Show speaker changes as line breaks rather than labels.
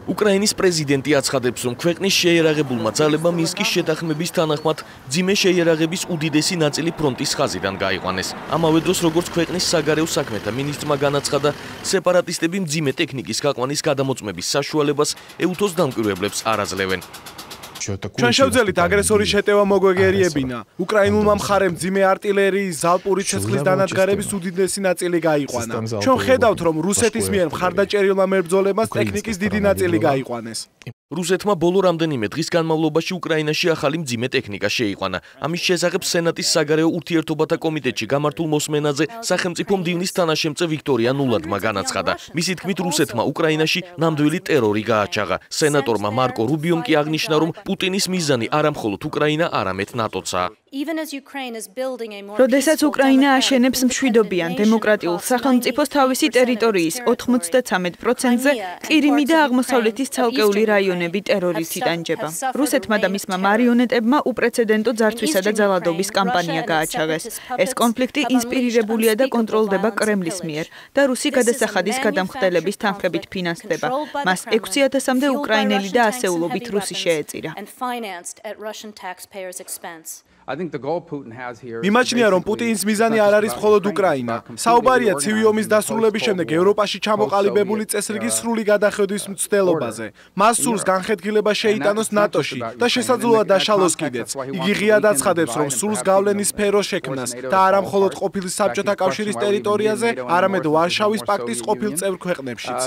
უკრაინის პრეზიდენტი აცხადებს, რომ ქვეყნის შეიარაღებულმა ძალებმა მინსკის შეთანხმების თანახმად მძიმე შეიარაღების უდიდესი ნაწილი ფრონტის ხაზიდან გაიყვანეს. ამავე დროს, როგორც ქვეყნის საგარეო საქმეთა მინისტრმა განაცხადა, სეპარატისტები მძიმე ტექნიკის გაყვანის გადამოწმების საშუალებას ეუთოს დამკვირვებლებს არ აძლევენ.
ჩვენ შევძელით აგრესორის შეტევა მოგვეგერიებინა. უკრაინულმა მხარემ მძიმე არტილერიის, ზალპური ცეცხლის დანადგარების უდიდესი ნაწილი გაიყვანა. ჩვენ ხედავთ, რომ რუსეთის მიერ მხარდაჭერილმა მებრძოლებმაც ტექნიკის დიდი ნაწილი გაიყვანეს.
რუსეთმა ბოლო რამდენიმე დღის განმავლობაში უკრაინაში ახალი მძიმე ტექნიკა შეიყვანა. ამის შესახებ სენატის საგარეო ურთიერთობათა კომიტეტში გამართულ მოსმენაზე სახელმწიფო მდივნის თანაშემწე ვიქტორია ნულადმა განაცხადა. მისი თქმით, რუსეთმა უკრაინაში ნამდვილი ტერორი გააჩაღა. სენატორმა მარკო რუბიომ კი აღნიშნა, რომ პუტინის მიზანი არა მხოლოდ უკრაინა, არამედ ნატოცაა.
როდესაც უკრაინა აშენებს მშვიდობიან დემოკრატიულ სახელმწიფოს თავისი ტერიტორიის 93%-ზე ყირიმი და აღმოსავლეთის ცალკეული რაიონები ტერორით იტანჯება. რუსეთმა და მისმა მარიონეტებმა უპრეცედენტო ძარცვისა და ძალადობის კამპანია გააჩაღეს. ეს კონფლიქტი ინსპირირებულია და კონტროლდება კრემლის მიერ და რუსი გადასახადის გადამხდელების თანხებით ფინანსდება. მას 6000-მდე უკრაინელი და ასეულობით რუსი შეეწირა.
მიმაჩნია, რომ პუტინის მიზანი არ არის მხოლოდ უკრაინა. საუბარია ცივი ომის დასრულების შემდეგ ევროპაში ჩამოყალიბებული წესრიგის სრული გადახედვის მცდელობაზე. მას სურს განხეთქილება შეიტანოს ნატოში და შესაძლოა დაშალოს კიდეც. იგი ღიად აცხადებს, რომ სურს გავლენის სფეროს შექმნას და არა მხოლოდ ყოფილი საბჭოთა კავშირის ტერიტორიაზე, არამედ ვარშავის პაქტის ყოფილ წევრ ქვეყნებშიც.